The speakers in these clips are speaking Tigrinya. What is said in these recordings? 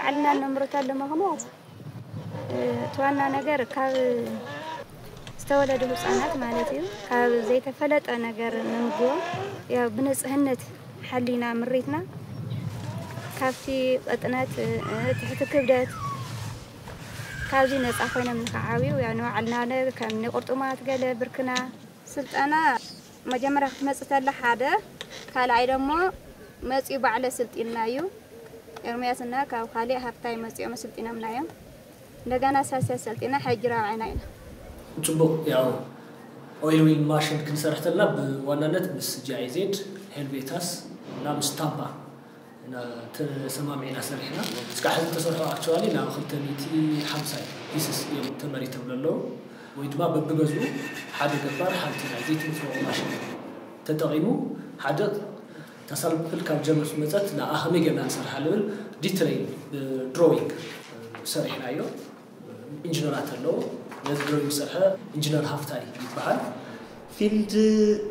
ኣልና ነምርቶ ኣለማ ከማት እቲ ዋና ነገር ካብ ዝተወለዱ ህፃናት ማለት እዩ። ካብ ዘይተፈለጠ ነገር ንምግቦም ያው ብንፅህነት ሓሊና ምሪትና ካብቲ ቅጥነት፣ ትሕቲ ክብደት ካብዚ ነፃ ኮይኖም ንክዓብዩ ያው ንባዕልና ከም ንቁርጥማት ገለ ብርክና ስልጠና መጀመርያ ክትመጽእ ተላ ሓደ፣ ካልኣይ ደሞ መጺኡ ባዕለ ስልጢና እዩ። ኤርምያስና ካብ ካሊእ ሃብታይ መጺኦም ስልጢኖምና እዮም። እንደገና ሳልሳይ ሰልጢና ሕጂ ራብዓይና ኢና። ጽቡቕ። ያው ኦይል ዊል ማሽን ክንሰርሕ ተለና ብዋናነት ምስ ጂኣይዜድ፣ ሄልቬታስ እና ምስ ታምፓ እና ተሰማሚዕና ሰሪሕና። እስካዕ ሕዚ ተሰርሖ ኣክቹዋሊ ናብ ክልተ ሚእቲ ሓምሳ ፒስስ እዮም ተመሪቶም ዘለዉ፣ ወይ ድማ በብገዝኡ ሓደ ገባር ሓንቲ ናይ ዘይትምፅኦ ማሽን ተጠቒሙ ሓደ ተሳልፕል ካብ ጀርመን ዝመፀት ንኣ ከመይ ጌርና ንሰርሓ ልብል ዲትረይል ብድሮዊንግ ሰሪሕናዮ። ኢንጂነራት ኣለዉ። ነዚ ድሮዊንግ ዝሰርሐ ኢንጂነር ሃፍታይ ይበሃል። ፊልድ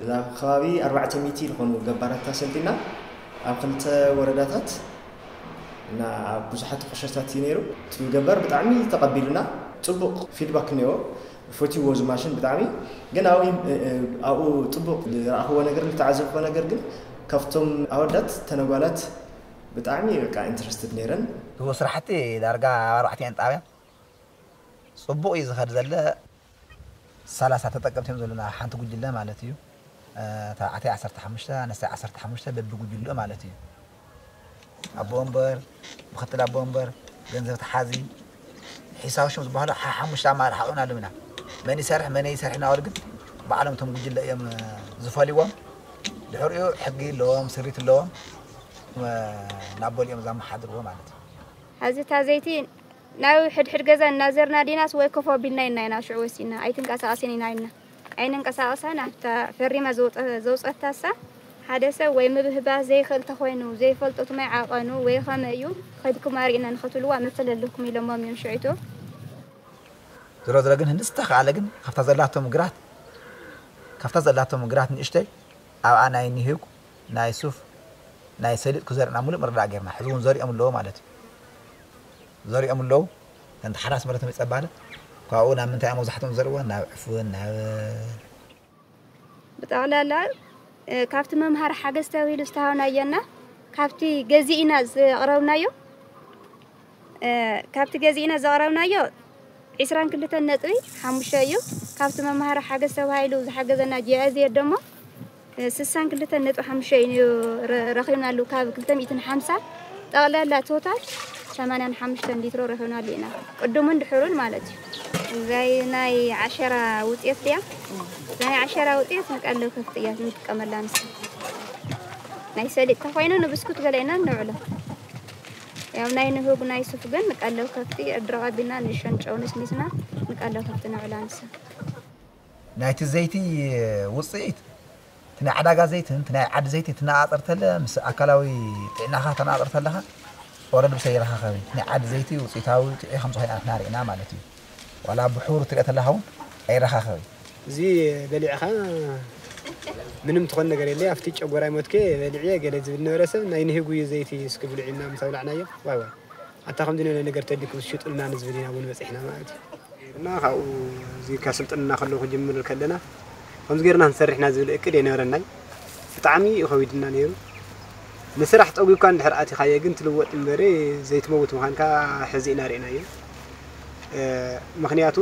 ናብ ከባቢ ኣርባዕተ ሚእቲ ዝኾኑ ገባራት ኣሰልጢና ኣብ ክልተ ወረዳታት እና ኣብ ብዙሓት ቁሸታት እዩ ነይሩ። እቲ ገባር ብጣዕሚ ተቐቢሉና፣ ጽቡቕ ፊድባክ እኒኦ፣ ፈትይዎ እዚ ማሽን ብጣዕሚ። ግን ኣብኡ ኣብኡ ጽቡቕ ዝረኣኽዎ ነገር ዝተዓዘብክዎ ነገር ግን ካብቶም ኣወዳት ተነጓላት ብጣዕሚ በቃ ኢንትረስትድ ነይረን። እዎ ስራሕቲ ዳርጋ ኣብ ኣርባዕቲኤን ጣብያ ጽቡቕ እዩ ዝኸድ ዘለ። ሰላሳ ተጠቀምቲ እዮም ዘለና ሓንቲ ጉጅለ ማለት እዩ። ተባዕታይ ዓሰርተ ሓሙሽተ ኣንስታይ ዓሰርተ ሓሙሽተ በቢ ጉጅልኡ ማለት እዩ። ኣቦ ወንበር፣ ምክትል ኣቦ ወንበር፣ ገንዘብ ተሓዚ፣ ሒሳብ ሽም ዝበሃሉ ሓሙሽተ ኣማራሒ ሓቑና ኣለውና። መን ይሰርሕ መን ይሰርሕ እናበሉ ግን ባዕሎም እቶም ጉጅለ እዮም ዝፈልይዎም። ድሕሪኡ ሕጊ ኣለዎም፣ ስሪት ኣለዎም። ናብ ቦሊኦም ዘመሓድርዎ ማለት እዩ። ሐዚ እታ ዘይቲ ናብ ሕድሕድ ገዛ እናዘርና ዲናስ ወይ ኮፍ ኣቢልና ኢና ኢና ሽዑ ወሲና ኣይትንቀሳቐስን ኢና ኢልና ኣይንንቀሳቐሳን ኣብታ ፈሪማ ዘውፀታሳ ሓደ ሰብ ወይ ምብህባስ ዘይኽእል ተኾይኑ ዘይፈልጦ ትማይ ዓቐኑ ወይ ኸመ እዩ ኸድኩም ኣርእና ንኸትብልዋ መሰል ኣለኩም ኢሎሞም እዮም ሽዑ እቶም ዝሮ ዝሮ ግን ህንዲ ዝተኻለ ግን ካብታ ዘላቶም ግራት ካብታ ዘላቶም ግራት ንእሽተይ ኣብኣ ናይ ኒህግ ናይ ሱፍ ናይ ሰሊጥ ክዘርእና ሙሉእ ምርዳእ ጌርና ሕዚ እውን ዘሪኦም ኣለዎ ማለት እዩ ዘሪኦም ኣለዉ። ከምቲ ሓራስ መረቶም ይጸባለ ካብኡ ናብ ምንታይ እዮም መብዛሕትኦም ዘርእዎ ናብ ዕፉን ናብ ብጠቕላላ ካብቲ መምሃሪ ሓገዝ ተባሂሉ ዝተሃብናዮና ካብቲ ገዚእና ዘቕረብናዮ ካብቲ ገዚእና ዘቕረብናዮ ዒስራን ክልተን ነጥቢ ሓሙሽተ እዩ። ካብቲ መምሃሪ ሓገዝ ተባሂሉ ዝሓገዘና ጂኣይዜድ ደሞ ስሳን ክልተን ነጥቢ ሓሙሽተ እዩ ረኺብናሉ ካብ ክልተ ሚእትን ሓምሳ ጠቕላላ ቶታል ሰማንያን ሓሙሽተን ሊትሮ ረኺብናሉ ኢና ቅድሙን ድሕሩን ማለት እዩ። እዛይ ናይ ዓሸራ ውፅየት ድያ? ናይ ዓሸራ ውፅየት ንቀለብ ከፍቲ እያ ንጥቀመላ ንሳ። ናይ ሰሊጥ ተኾይኑ ንብስኩት ገለ ኢና ነውዕሎ። ያው ናይ ንህጉ ናይ ሱፍ ግን ንቀለብ ከፍቲ እድረቕ ኣቢልና ንእሽቶን ጨው ነስኒስና ንቀለብ ከፍቲ ነውዕላ ንሳ። ናይቲ ዘይቲ ውፅኢት እቲ ናይ ዕዳጋ ዘይትን እቲ ናይ ዓዲ ዘይቲ ትነፃፀር ተለ ምስ ኣካላዊ ጥዕናኻ ተነፃፀር ተለኻ ኦረድ ብሰ ይረኻኸብ እዩ። እቲ ናይ ዓዲ ዘይቲ ውፅኢታዊ ጥዑይ ከም ዝኾነ ኣትና ርኢና ማለት እዩ። ዋላ ብሕብሩ ትሪኦ ተለኻ እውን ኣይረኻኸብ እዩ። እዚ በሊዕኻ ምንም ትኾን ነገር የለ ኣብቲ ጨጎራይ ሞትከ በሊዕየ ገለ ዝብል ነበረ ሰብ ናይ ንህጉ እዩ ዘይቲ እስኪ ብልዑ ኢልና ምስ ኣብላዕናዮ ዋይ ዋይ ኣታ ከምዚ ነለ ነገር ተሊኩም ሽጡልና ንዝብል ኢና እውን በፂሕና ማለት እዩ እና ካብኡ እዚ ከስልጥንና ከለዉ ክጅምር ከለና ከምዚ ገርና ክንሰርሕና ዝብል እቅድ የነበረናይ ብጣዕሚ እዩ ከቢድና ነይሩ ንስራሕ ፀጒብካ እንድሕር ኣቲኻዮ ግን ትልወጥ እምበሪ ዘይትመውት ምዃንካ ሕዚ ኢና ርኢናዮ ምኽንያቱ